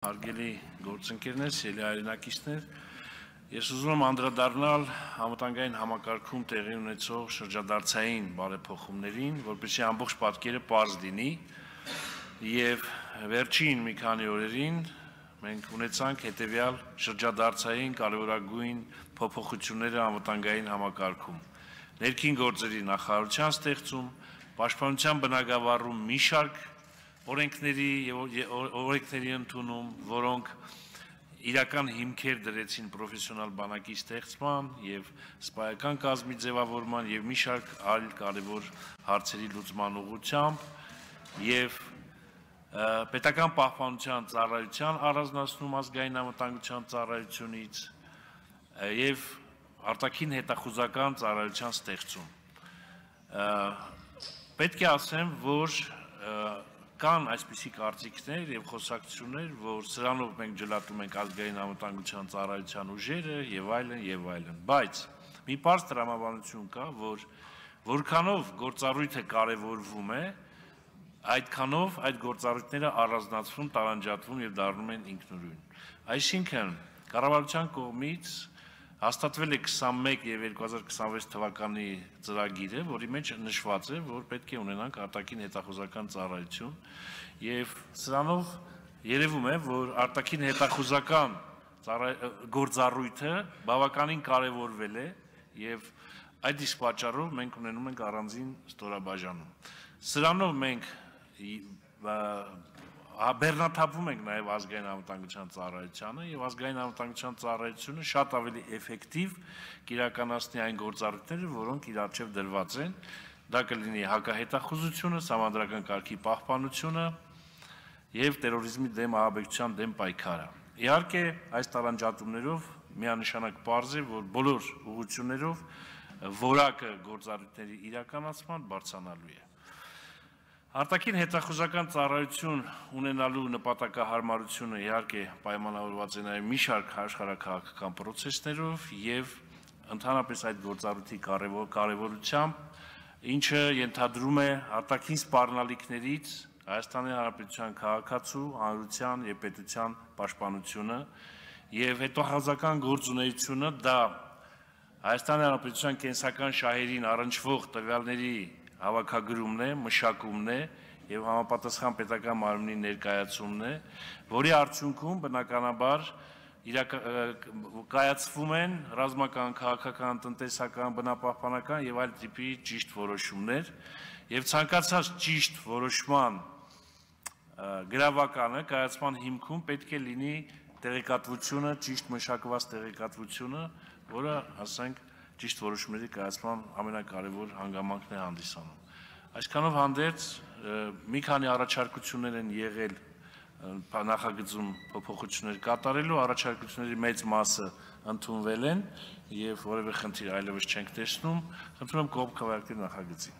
Հարգելի գործընկերներ, սիրելի հայրենակիցներ, ես ուզում եմ անդրադառնալ համապատասխանային համակարգում տեղի ունեցող շրջադարձային բարեփոխումներին, որպեսզի ամբողջ պատկերը պարզ լինի, եւ վերջին մի քանի օրերին մենք ունեցանք հետեւյալ շրջադարձային կարևորագույն փոփոխությունները համապատասխանային համակարգում։ Ներքին գործերի նախարարության ստեղծում, պաշտպանության բնագավառում մի շարք օրենքների ընդունում, որոնք իրական հիմքեր դրեցին պրոֆեսիոնալ բանակի ստեղծման եւ սպայական կազմի ձևավորման եւ մի շարք այլ կարևոր հարցերի լուծման ուղղությամբ եւ պետական պահպանության ծառայության առանձնացնում ազգային անվտանգության ծառայությունից եւ արտաքին հետախուզական ծառայության ստեղծում։ Պետք է ասեմ, որ կան այսպիսի կարծիքներ եւ խոսակցություններ, որ սրանով մենք ջլատում ենք ազգային անվտանգության ծառայության ուժերը եւ այլն, բայց մի պարզ տրամաբանություն կա, որ որքանով գործառույթը կարեւորվում է, այդքանով այդ գործառույթները առանձնացվում, տարանջատվում եւ դառնում են ինքնուրույն։ Այսինքն կառավարության կողմից հաստատվել է 21 եւ 2026 թվականի ծրագիրը, որի մեջ նշված է, որ պետք է ունենանք արտաքին հետախուզական ծառայություն եւ սրանով երևում է, որ արտաքին հետախուզական գործառույթը բավականին կարեւորվել է եւ այդ իսկ պատճառով մենք ունենում ենք առանձին ստորաբաժանում։ Սրանով մենք բեռնաթափվում ենք նաև ազգային անվտանգության ծառայությանը եւ ազգային անվտանգության ծառայությունը շատ ավելի էֆեկտիվ կիրականացնի այն գործառույթները, որոնք իր առջև դրված են, դա կլինի հակահետախուզությունը, սահմանադրական կարգի պահպանությունը եւ տերորիզմի դեմ ահաբեկչության դեմ պայքարը։ Իհարկե, այս տարանջատումներով միանշանակ պարզ է, որ բոլոր ուղղություններով որակը գործառույթների իրականացման բարձրանալու է։ Արտաքին հետախուզական ծառայություն ունենալու նպատակահարմարությունը իհարկե պայմանավորված է նաև մի շարք աշխարհաքաղաքական պրոցեսներով եւ ընդհանրապես այդ գործառույթի կարևորությամբ, ինչը ենթադրում է արտաքին սպառնալիքներից Հայաստանի Հանրապետության քաղաքացու, հանրության եւ պետության պաշտպանությունը եւ հետախուզական գործունեությունը դա Հայաստանի Հանրապետության կենսական շահերին առնչվող տվյալների հավաքագրումն է, մշակումն է եւ համապատասխան պետական մարմնի ներկայացումն է, որի արդյունքում բնականաբար կայացվում են ռազմական, քաղաքական, տնտեսական, բնապահպանական եւ այլ տիպի ճիշտ որոշումներ եւ ցանկացած ճիշտ որոշման գրավականը կայացման հիմքում պետք է լինի տեղեկատվությունը, ճիշտ մշակված տեղեկատվությունը, որը, ասենք, ճիշտ որոշումների կայացման ամենակարևոր հանգամանքն է հանդիսանում։ Այսքանով հանդերձ մի քանի առաջարկություններ են եղել նախագծում փոփոխություններ կատարելու, առաջարկությունների մեծ մասը ընդունվել են եւ որևէ խնդիր այլևս չենք տեսնում։ Խնդրում եմ կողմ քվեարկել նախագծին։